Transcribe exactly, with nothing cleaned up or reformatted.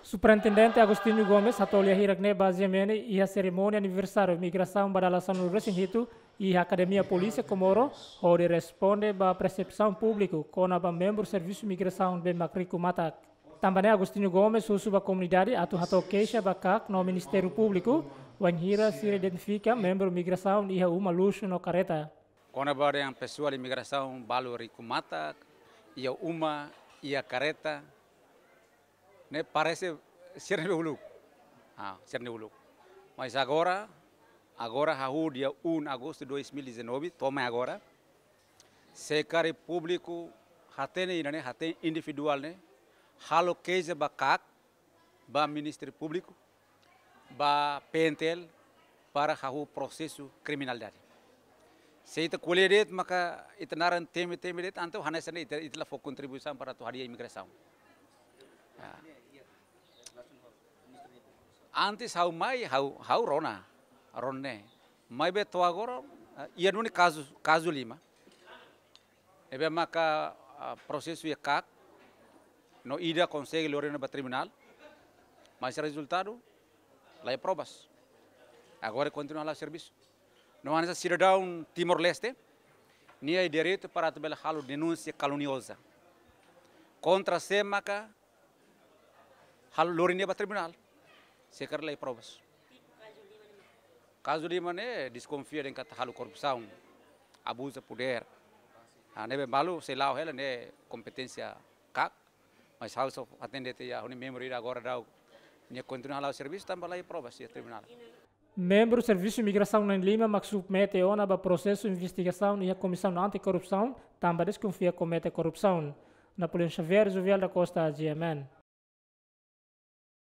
Superintendente Agostinho Gomes hato'o lia hirak ne'e ba GMN iha serimónia aniversáriu migrasaun ba dala sanulu-resin-hitu iha Akademia Polísia Comoro, hodi responde ba persepsaun públiku kona-ba membru servisu migrasaun be mak riku matak. Tanba ne'e Agostinho Gomes husu ba komunidade atu hato'o keixa ba KAK no Ministériu Públiku, wainhira sira identifika membru migrasaun iha uma luxu no karreta. Kona-ba dehan pesoál imigrasaun balu riku matak, iha uma, iha karreta, ne'e parese sira-nia uluk. Ah, sira-nia uluk. Mas agora, agora hahú dia um agosto dois mil e dezanove, to'o mai agora, se karik públiku hatene ida-ne'e, hatene individuál ne'e, halo keixa ba KAK, ba Ministériu Públiku, ba PNTL, para hahú prosesu kriminalidade. Se ita ko'alia de'it maka ita naran temi-temi de'it, entaun hanesan ne'e ita, ita la fó kontribuisaun para atu hadi'a imigrasaun. Ya. Antes ha'u mai, ha'u, ha'u rona, rona ne'e. Maibé to'o agora, eh, iha duni kazu, kazu lima. Ne'ebé maka, ah, prosesu iha KAK, no ida konsege lori ona ba tribunál, mas rezultadu la iha provas. Agora kontinua hala'o servisu. No hanesan sidadaun Timor-Leste, nia iha direitu para atu bele halo denúnsia kalunioza kontra sé maka halo lori nia ba tribunál, se karik la iha provas. Kazu lima ne'e deskonfia dehan katak halo korrupsaun, abuza podér. Ah, ne'ebé balu sei la'o hela ne'e kompeténsia KAK, mas ha'u só hatene de'it iha ha'u-nia membru ida agora daudaun nia kontinua hala'o servisu tanba la iha provas iha tribunál. Membru Servisu Migrasaun na'in-lima mak submete ona ba prosesu investigasaun iha Komisaun Anti-Korrupsaun, tanba deskonfia komete korrupsaun. Napoleão Xavier, Jovial da Costa, GMN.